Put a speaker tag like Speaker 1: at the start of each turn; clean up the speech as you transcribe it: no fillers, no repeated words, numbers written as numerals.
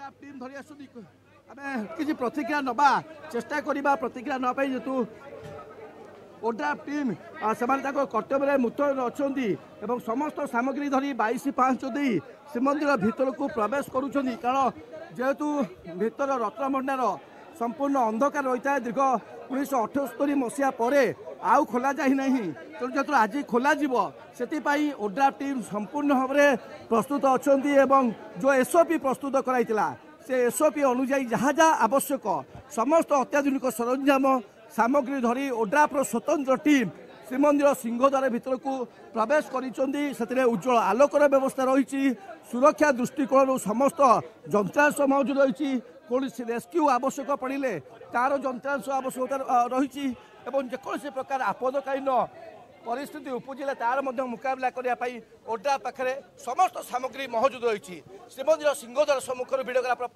Speaker 1: ODRAF team ଧରି ଆସୁଛନ୍ତି। ଆମେ କିଛି ପ୍ରତିକ୍ରିୟା ନେବା ଚେଷ୍ଟା କରିବା। ପ୍ରତିକ୍ରିୟା ନେବା ପାଇଁ ଯେହେତୁ ଓଡ୍ରାଫ୍ ଟିମ୍ ସେମାନେ ତାଙ୍କ କର୍ତ୍ତବ୍ୟରେ ମୁତୟନ ଅଛନ୍ତି ଏବଂ ସମସ୍ତ ସାମଗ୍ରୀ ଧରି 22 ପାହାଞ୍ଚ ଦେଇ ଶ୍ରୀମନ୍ଦିର ଭିତରକୁ ପ୍ରବେଶ କରୁଛନ୍ତି। କାରଣ ଯେହେତୁ ଭିତର ରତ୍ନଭଣ୍ଡାର ସମ୍ପୂର୍ଣ୍ଣ ଅନ୍ଧକାର ରହିଥାଏ, ଦୀର୍ଘ 1978 ମସିହା ପରେ ଆଉ ଖୋଲା ଯାଇ ନାହିଁ। ତେଣୁ ଯେହେତୁ ଆଜି ଖୋଲାଯିବ, ସେଥିପାଇଁ ଓଡ୍ରାଫ୍ ଟିମ୍ ସମ୍ପୂର୍ଣ୍ଣ ଭାବରେ ପ୍ରସ୍ତୁତ ଅଛନ୍ତି ଏବଂ ଯେଉଁ ଏସ୍ଓପି ପ୍ରସ୍ତୁତ କରାଇଥିଲା, ସେ ଏସ୍ଓପି ଅନୁଯାୟୀ ଯାହା ଯାହା ଆବଶ୍ୟକ ସମସ୍ତ ଅତ୍ୟାଧୁନିକ ସରଞ୍ଜାମ ସାମଗ୍ରୀ ଧରି ଓଡ୍ରାଫ୍ର ସ୍ୱତନ୍ତ୍ର ଟିମ୍ ଶ୍ରୀମନ୍ଦିର ସିଂହଦ୍ୱାର ଭିତରକୁ ପ୍ରବେଶ କରିଛନ୍ତି। ସେଥିରେ ଉଜ୍ଜଳ ଆଲୋକର ବ୍ୟବସ୍ଥା ରହିଛି, ସୁରକ୍ଷା ଦୃଷ୍ଟିକୋଣରୁ ସମସ୍ତ ଯନ୍ତ୍ରାଂଶ ମହଜୁଦ ରହିଛି, କୌଣସି ରେସ୍କ୍ୟୁ ଆବଶ୍ୟକ ପଡ଼ିଲେ ତାର ଯନ୍ତ୍ରାଂଶ ଆବଶ୍ୟକତା ରହିଛି ଏବଂ ଯେକୌଣସି ପ୍ରକାର ଆପଦକାଳୀନ ପରିସ୍ଥିତି ଉପୁଜିଲେ ତାର ମଧ୍ୟ ମୁକାବିଲା କରିବା ପାଇଁ ଓଡ୍ରା ପାଖରେ ସମସ୍ତ ସାମଗ୍ରୀ ମହଜୁଦ ରହିଛି। ଶ୍ରୀମନ୍ଦିର ସିଂହଦ୍ୱାର ସମ୍ମୁଖରୁ ଭିଡ଼ିଓଗ୍ରାଫର